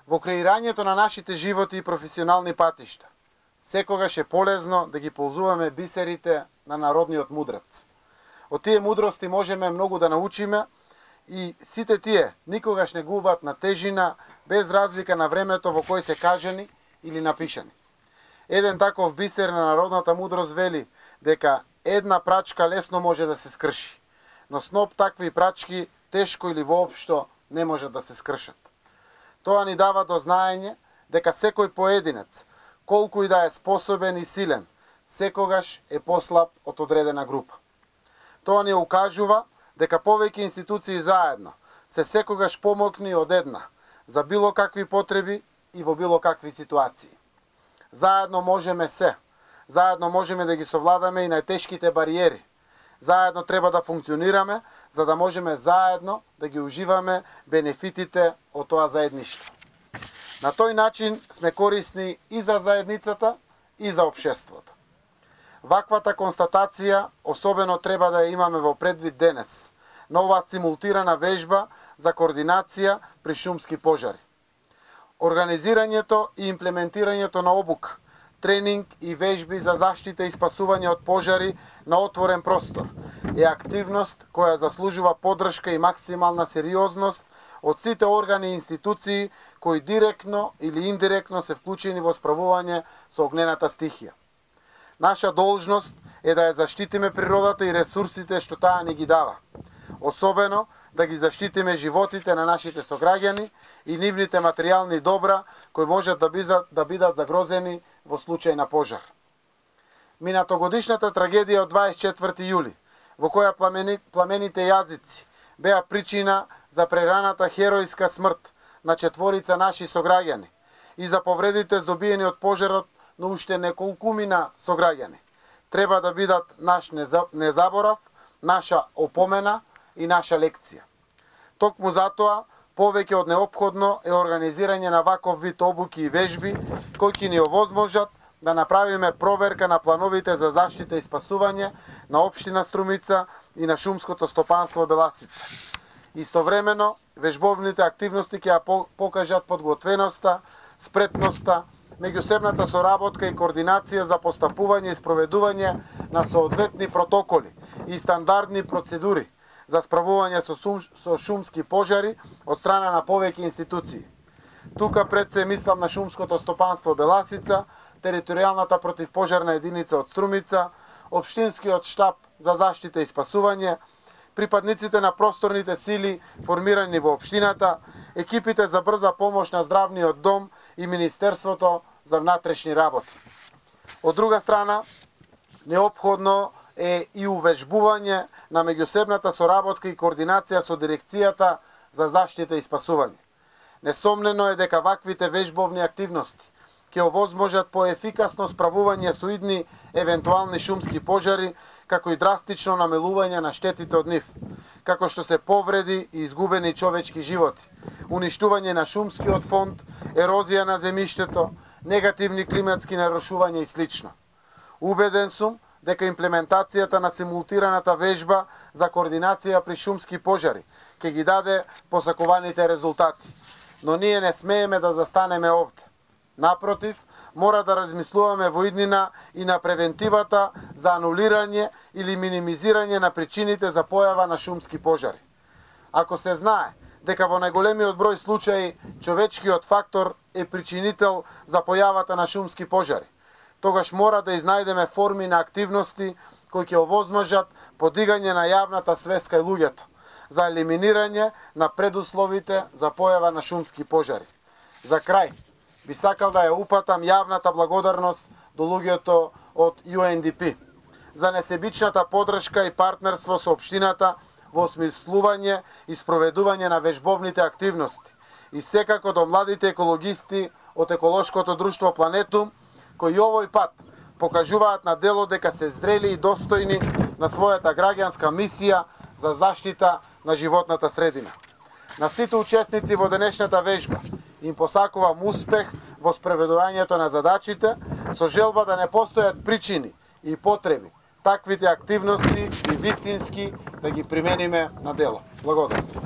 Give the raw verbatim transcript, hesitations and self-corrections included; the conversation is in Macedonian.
Во креирањето на нашите животи и професионални патишта, секогаш е полезно да ги ползуваме бисерите на народниот мудрец. Од тие мудрости можеме многу да научиме и сите тие никогаш не губат на тежина без разлика на времето во кој се кажани или напишани. Еден таков бисер на народната мудрост вели дека една прачка лесно може да се скрши, но сноп такви прачки тешко или воопшто не може да се скршат. Тоа ни дава до знаење дека секој поединец, колку и да е способен и силен, секогаш е послаб од одредена група. Тоа ни укажува дека повеќе институции заедно се секогаш помокни од една за било какви потреби и во било какви ситуации. Заедно можеме се, заедно можеме да ги совладаме и најтешките бариери. Заедно треба да функционираме, за да можеме заедно да ги уживаме бенефитите од тоа заедништво. На тој начин сме корисни и за заедницата, и за општеството. Ваквата констатација особено треба да ја имаме во предвид денес, на оваа симултирана вежба за координација при шумски пожари. Организирањето и имплементирањето на обука, тренинг и вежби за заштита и спасување од пожари на отворен простор е активност која заслужува поддршка и максимална сериозност од сите органи и институции кои директно или индиректно се вклучени во справување со огнената стихија. Наша должност е да ја заштитиме природата и ресурсите што таа ни ги дава. Особено да ги заштитиме животите на нашите сограѓани и нивните материјални добра кои можат да бидат, да бидат загрозени во случај на пожар. Минатогодишната трагедија од дваесет и четврти јули, во која пламени, пламените јазици беа причина за прераната херојска смрт на четворица наши сограѓани и за повредите здобиени од пожарот на уште неколкумина сограѓани, треба да бидат наш незаборав, наша опомена и наша лекција. Токму затоа, повеќе од неопходно е организирање на ваков вид обуки и вежби, кои ќе ни овозможат да направиме проверка на плановите за заштита и спасување на општина Струмица и на шумското стопанство Беласица. Истовремено, вежбовните активности ќе ја покажат подготвеноста, спретноста, меѓусебната соработка и координација за постапување и спроведување на соодветни протоколи и стандардни процедури за справување со, сум, со шумски пожари од страна на повеќе институции. Тука пред се мислам на шумското стопанство Беласица, територијалната противпожарна единица од Струмица, општинскиот штаб за заштита и спасување, припадниците на просторните сили формирани во општината, екипите за брза помош на здравниот дом и Министерството за внатрешни работи. Од друга страна, неопходно е и увежбување на меѓусебната соработка и координација со дирекцијата за заштита и спасување. Несомнено е дека ваквите вежбовни активности ќе овозможат поефикасно справување со идни евентуални шумски пожари, како и драстично намелување на штетите од нив, како што се повреди и изгубени човечки животи, уништување на шумскиот фонд, ерозија на земјиштето, негативни климатски нарушувања и слично. Убеден сум дека имплементацијата на симултираната вежба за координација при шумски пожари ќе ги даде посакуваните резултати, но ние не смееме да застанеме овде. Напротив, мора да размислуваме во иднина и на превентивата за анулирање или минимизирање на причините за појава на шумски пожари. Ако се знае дека во најголемиот број случаи човечкиот фактор е причинител за појавата на шумски пожари, тогаш мора да изнајдеме форми на активности кои ќе овозможат подигање на јавната свест кај луѓето за елиминирање на предусловите за појава на шумски пожари. За крај, би сакал да ја упатам јавната благодарност до луѓето од Ю Ен Ди Пи за несебичната поддршка и партнерство со општината во осмислување и спроведување на вежбовните активности и секако до младите екологисти од еколошкото друштво Планетум, кои овој пат покажуваат на дело дека се зрели и достојни на својата граѓанска мисија за заштита на животната средина. На сите учесници во денешната вежба им посакувам успех во спроведувањето на задачите, со желба да не постојат причини и потреби таквите активности и вистински да ги примениме на дело. Благодарам.